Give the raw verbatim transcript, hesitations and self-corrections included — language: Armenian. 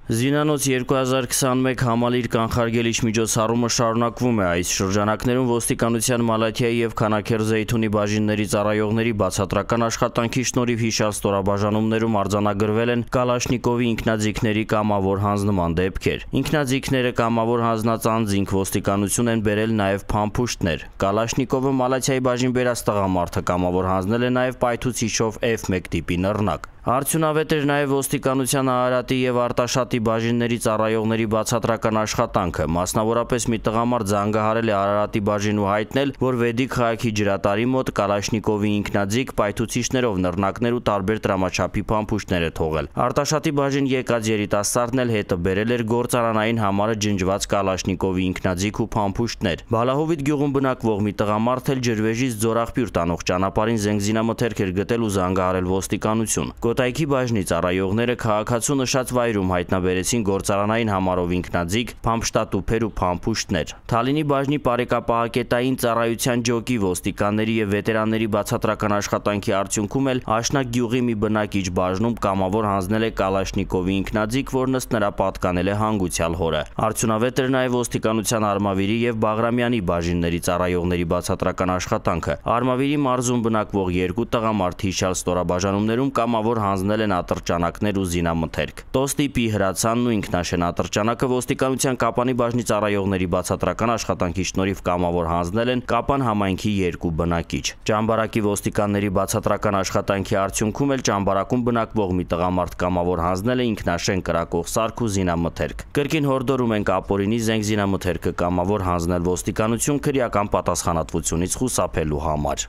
Զինանոց երկու հազար քսանմեկ համալիր կանխարգելիչ միջոցառումը շարունակվում է։ Այս շրջանակներում ոստիկանության Մալաթիայի և Քանաքեռ-Զեյթունի բաժինների ծառայողների բացատրական աշխատանքի շնորհիվ հիշյալ ստորաբաժանումներում արձանագրվել են Կալաշնիկովի ինքնաձիգների կամավոր հանձնման դեպքեր։ Ինքնաձիգները կամավոր հանձնած անձինք ոստիկանություն են բերել նաև փամփուշտներ։ Կալաշնիկովը Մալաթիայի բաժին բերած տղամարդը կամավոր հանձնել է նաև պայթուցիչով F մեկ տիպի նռնակ։ Արդյունավետ էր նաև ոստիկանության Արարատի և Արտաշատի բաժինների ծառայողների բացատրական աշխատանքը։ Մասնավորապես մի տղամարդ զանգահարել է Արարատի բաժին ու հայտնել, որ Վեդիկ քաղաքի ջրատարի մոտ Կալաշնիկովի ինքնաձիգ պայթուցիչներով նռնակներ ու տարբեր տրամաչափի փամփուշտներ է թողել։ Արտաշատի բաժին եկած երիտասարդն էլ հետը բերել էր գործարանային համարը ջնջված Կալաշնիկովի ինքնաձիգ ու փամփուշտներ։ Բալահովիտ գյուղում բնակվող մի տղամարդ էլ ջրվեժից ձորաղբյուր տանող ճանապարհին զենգզինամթերք էր գտել ու զանգահարել ոստիկանություն։ Կոտայքի բաժնի ծառայողները քաղաքացու նշած վայրում հայտնաբերեցին գործարանային համարով ինքնաձիգ, փամփշտատուփեր ու փամփուշտներ։ Թալինի բաժնի պարեկապահակետային ծառայության ջոկի ոստիկանների և վետերանների բացատրական աշխատանքի արդյունքում էլ Աշնակ գյուղի մի բնակիչ բաժնում կամավոր հանձնել է Կալաշնիկովի ինքնաձիգ, որն ըստ նրա պատկանել է հանգուցյալ հորը։ Արդյունավետ էր նաև ոստիկանության Արմավիրի և Բաղրամյանի բաժինների ծառայողների բացատրական աշխատանքը։ Արմավիրի մարզում բնակվող երկու տղամարդ հիշյալ ստորաբաժանումներում կամավոր հանձնել են ատրճանակներ ու զինամթերք։ Տոստիպի հրացանն ու ինքնաշեն ատրճանակը ոստիկանության Կապանի բաժնի ծառայողների բացատրական աշխատանքի շնորհիվ կամավոր հանձնել են Կապան համայնքի երկու բնակիչ։ Ճամբարակի ոստիկանների բացատրական աշխատանքի արդյունքում էլ Ճամբարակում բնակվող մի տղամարդ կամավոր հանձնել է ինքնաշեն կրակող սարք ու զինամթերք։ Կրկին հորդորում ենք ապօրինի զենգզինամթերքը կամավոր հանձնել ոստիկանություն քրեական պատասխանատվությունից խուսափելու համար։